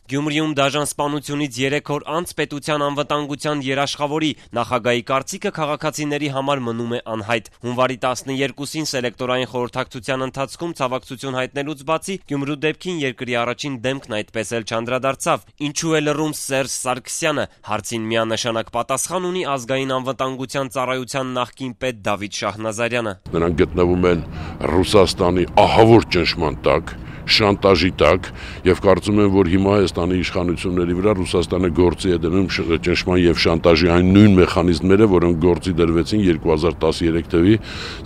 Գյումրիում դաժան սպանությունից 3 օր անց պետության անվտանգության երաշխավորի նախագահի կարծիքը քաղաքացիների համար մնում է անհայտ։ Հունվարի 12-ին սելեկտորային խորհրդակցության ընթացքում ցավակցություն հայտնելուց բացի Գյումրու դեպքին երկրի առաջին դեմքն այդպես էլ չանդրադարձավ։ Ինչու է լռում Սերժ Սարգսյանը, հարցին միանշանակ պատասխան ունի ազգային անվտանգության ծառայության նախկին պետ Դավիթ Շահնազարյանը։ Նրանք գտնվում են Ռուսաստանի ահավոր ճնշման տակ, շանտաժի տակ, եւ կարծում եմ, որ հիմա Հայաստանի իշխանությունների վրա Ռուսաստանը գործի է դնում ճնշման եւ շանտաժի այն նույն մեխանիզմները, որոնք գործի դրվեցին 2013 թվականի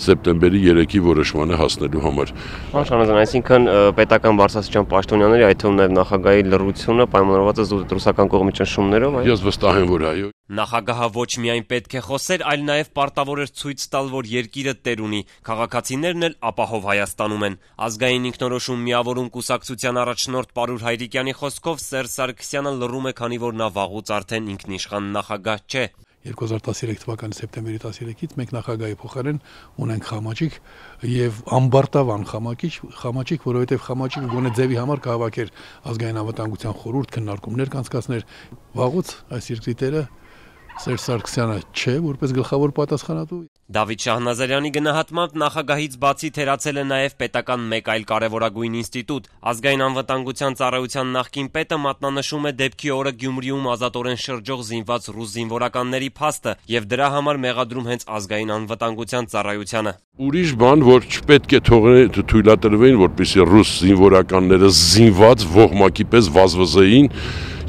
սեպտեմբերի 3-ի որոշմանը հասնելու համար։ Շահնազարյան, այսինքն պետական բարձրաստիճան պաշտոնյաների, այդ թվում նաեւ նախագահի լռությունը պայմանավորված է ռուսական կողմի ճնշումներով, այո։ Ես վստահ եմ, որ այո։ Նախագահը ոչ միայն պետք է խոսեր, այլ նաև պարտավոր էր ցույց տալ, որ երկիրը տեր ունի։ Քաղաքացիներն էլ ապահով Հայաստանում են։ Ազգային ինքնորոշում միավորում կուսակցության առաջնորդ Պարուր Հայրիկյանի խոսքով Սերժ Սարգսյանը լռում է, քանի որ նա վաղուց արդեն ինքնիշխան նախագահ չէ։ 2013 թվականի սեպտեմբերի 13-ից մենք նախագահի փոխարեն ունենք Խամաճիկ եւ ամբարտավան Խամաճիկ, որովհետեւ Խամաճիկը գոնե ձևի համար կհավաքեր ազգային անվտանգության խորհուրդ քննարկումներ կանցկացներ։ Վաղուց այս երկրի տերը Սերժ Սարգսյանը չէ, որպես գլխավոր պատասխանատու։ Դավիթ Շահնազարյանի գնահատմամբ նախագահից բացի թերացել է նաև պետական մեկ այլ կարևորագույն ինստիտուտ։ Ազգային անվտանգության ծառայության նախկին պետը մատնանշում է դեպքի օրը Գյումրիում ազատորեն շրջող զինված ռուս զինվորականների փաստը եւ դրա համար մեղադրում հենց ազգային անվտանգության ծառայությանը։ Ուրիշ բան, որ չպետք է թույլատրվեին, որպեսզի ռուս զինվորականները զինված ողմակի պես վազվզեին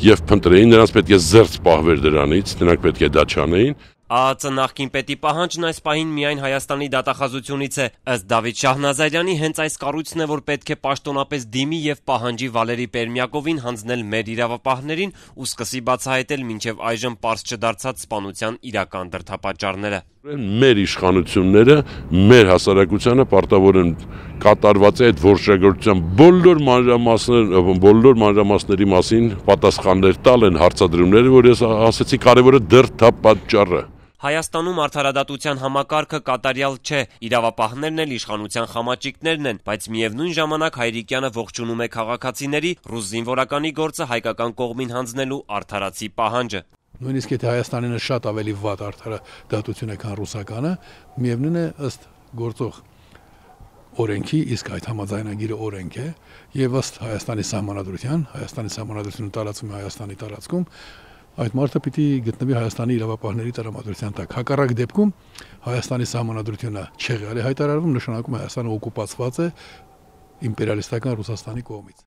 եւ փնտրեին, նրանց պետք է զերծ պահվեր դրանից, նրանք պետք է դա չանեին։ ԱԱԾ նախկին պետի պահանջն այս պահին միայն Հայաստանի դատախազությունից է։ Ըստ Դավիթ Շահնազարյանի, հենց այս կառույցն է, որ պետք է պաշտոնապես դիմի եւ պահանջի Վալերի Պերմյակովին հանձնել մեր իրավապահներին ու սկսի բացահայտել մինչեւ այժմ պարզ չդարձած սպանության իրական դրդապատճառները։ Մեր իշխանությունները, մեր հասարակությանը պարտավոր են կատարված է այդ որոշակության բոլոր մանրամասների մասին պատասխաններ տալ են հարցադրումները, որ ես ասացի կարևորը դրդապատճառը։ Հայաստանում արդարադատության համակարգը կատարյալ չէ, իրավապահներն էլ իշխանության խամաճիկներն են, բայց միևնույն ժամանակ Հայրիկյանը ողջունում է քաղաքացիների ռուս զինվորականի գործը հայկական կողմին հանձնելու արդարացի պահանջը։ Նույնիսկ եթե Հայաստանինը շատ ավելի վատ արդարադատություն է, քան ռուսականը, միևնույն է ըստ գործող օրենքի, իսկ այդ համաձայնագիրը օրենք է, եւ ըստ Հայաստանի սահմանադրությունը տարածվում է Հայաստանի տարածքում, այդ մարդը պիտի գտնվի Հայաստանի իրավապահների տրամադրության տակ։ Հակառակ դեպքում Հայաստանի սահմանադրությունը չեղյալ է հայտարարվում, նշանակում է Հայաստանը օկուպացված է իմպերիալիստական Ռուսաստանի կողմից։